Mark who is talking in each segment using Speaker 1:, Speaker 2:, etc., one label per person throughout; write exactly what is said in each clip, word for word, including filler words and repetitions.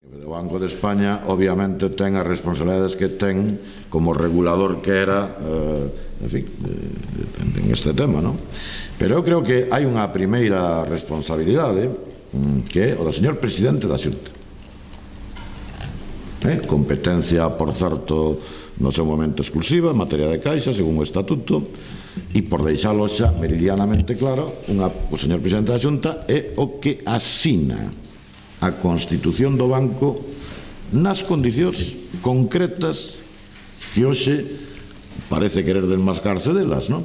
Speaker 1: O Banco de España obviamente ten as responsabilidades que ten como regulador que era eh, en fin, eh, en este tema, non? Pero eu creo que hai unha primeira responsabilidade que é o do señor presidente da Xunta, eh? Competencia, por certo, no seu momento exclusiva en materia de caixa, según o estatuto, e por deixalo xa meridianamente claro, unha, o señor presidente da Xunta é o que asina a constitución do banco nas condicións concretas que hoxe parece querer desmascarse delas, non?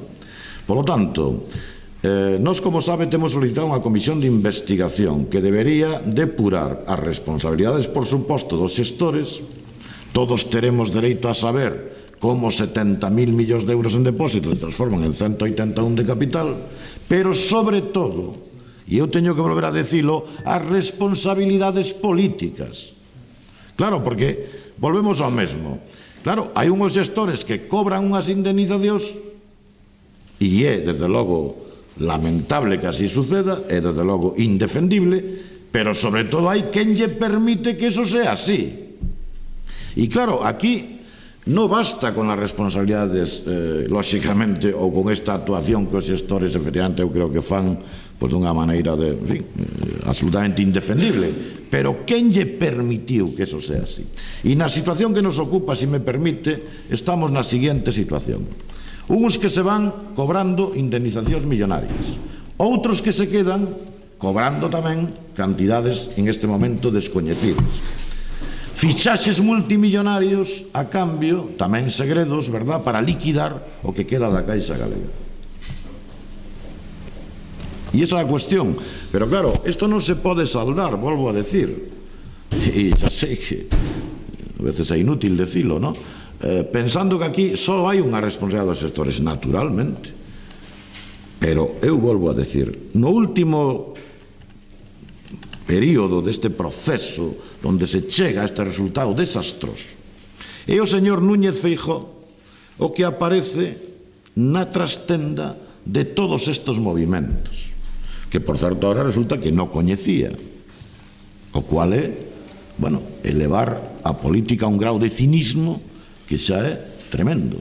Speaker 1: Por lo tanto, eh, nós, como sabe, temos solicitado unha comisión de investigación que debería depurar as responsabilidades, por suposto, dos xestores. Todos teremos dereito a saber como setenta mil millóns de euros en depósitos se transforman en ciento oitenta e un de capital, pero, sobre todo, e eu teño que volver a decilo, as responsabilidades políticas. Claro, porque volvemos ao mesmo. Claro, hai unhos xestores que cobran unhas indemnizacións e é, desde logo, lamentable que así suceda, é, desde logo, indefendible, pero, sobre todo, hai quen lle permite que eso sea así. E, claro, aquí non basta con as responsabilidades, eh, lóxicamente, ou con esta actuación que os xestores, efectivamente, eu creo que fan pois dunha maneira de, en fin, absolutamente indefendible, pero quen lle permitiu que eso sea así? E na situación que nos ocupa, se me permite, estamos na seguinte situación: uns que se van cobrando indemnizacións millonarias, outros que se quedan cobrando tamén cantidades en este momento descoñecidas, fichaxes multimillonarios a cambio, tamén segredos, verdad, para liquidar o que queda da Caixa Galega. E esa é a cuestión. Pero claro, isto non se pode saldar, volvo a decir, e xa sei que a veces é inútil decilo, non? Eh, pensando que aquí só hai unha responsabilidade dos sectores, naturalmente. Pero eu volvo a decir, no último período deste proceso onde se chega a este resultado desastroso, é o señor Núñez Feijóo o que aparece na trastenda de todos estes movimentos, que, por certo, ahora resulta que non coñecía, o cual é, bueno, elevar a política a un grau de cinismo que xa é tremendo.